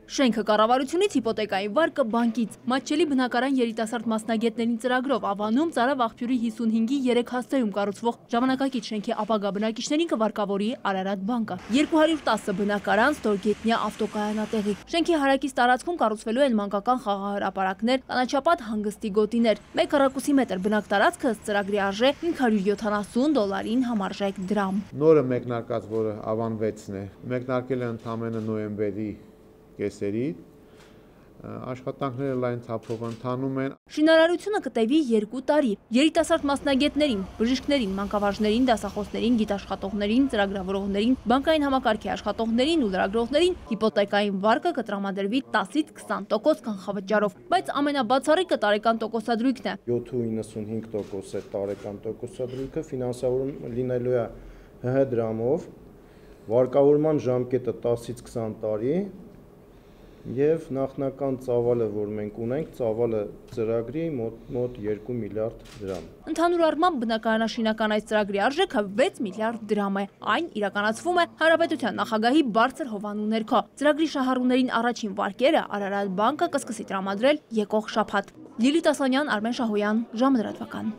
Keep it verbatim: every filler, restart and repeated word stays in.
Շենքը կառավարությունից, հիպոթեկայի վարկը բանկից։ Մատչելի բնակարան երիտասարդ մասնագետներին ծրագրով Ավանում Ծարավ աղբյուրի հիսունհինգի երեք հասցեում կառուցվող ժամանակակից շենքի ապագա բնակիչներին կվարկավորի Արարատ բանկը։ երկու հարյուր տասը բնակարան, ստորգետնյա ավտոկայանատեղի։ Շենքի հարակից տարածքում կառուցվելու են մանկական խաղահրապարակներ, կանաչապատ հանգստի գոտիներ։ Մեկ քառակուսի մետր բնակ տարածքը ըստ ծրագրի արժե հինգ հարյուր յոթանասուն դոլարին համարժեք դրամ։ Նորը մեկնարկած, որը Ավան վեցն է, մեկնարկել է ընդամենը նոյեմբերի կեսերի, աշխատանքները լայն թափով ընթանում են։ Շինարարությունը կտևի երկու տարի։ Երիտասարդ մասնագետներին, բժիշկներին, մանկավարժներին, դասախոսներին, գիտաշխատողներին, ծրագրավորողներին, բանկային համակարգի աշխատողներին ու լրագրողներին հիպոթեկային վարկը կտրամադրվի տասից քսան տոկոս կանխավճարով, բայց ամենաբացառիկը տարեկան տոկոսադրույքն է։ յոթ ու իննսունհինգ տոկոս է տարեկան տոկոսադրույքը, ֆինանսավորում լինելու է ՀՀ դրամով, վարկավորման ժամկետը տասից քսան տարի։ Եվ նախնական ծավալը, որ մենք ունենք, ծավալը ծրագրի մոտ մոտ երկու միլիարդ դրամ։ Ընդհանուր առմամբ բնակարանաշինական այս ծրագրի արժեքը վեց միլիարդ դրամ է։ Այն իրականացվում է Հանրապետության նախագահի բարձր հովանու ներքո։ Ծրագրի շահառուներին առաջին վարկերը Արարատ բանկը կսկսի տրամադրել եկող շաբաթ։ Լիլիթ Ասանյան, Արմեն Շահոյան, ժամը լրատվական։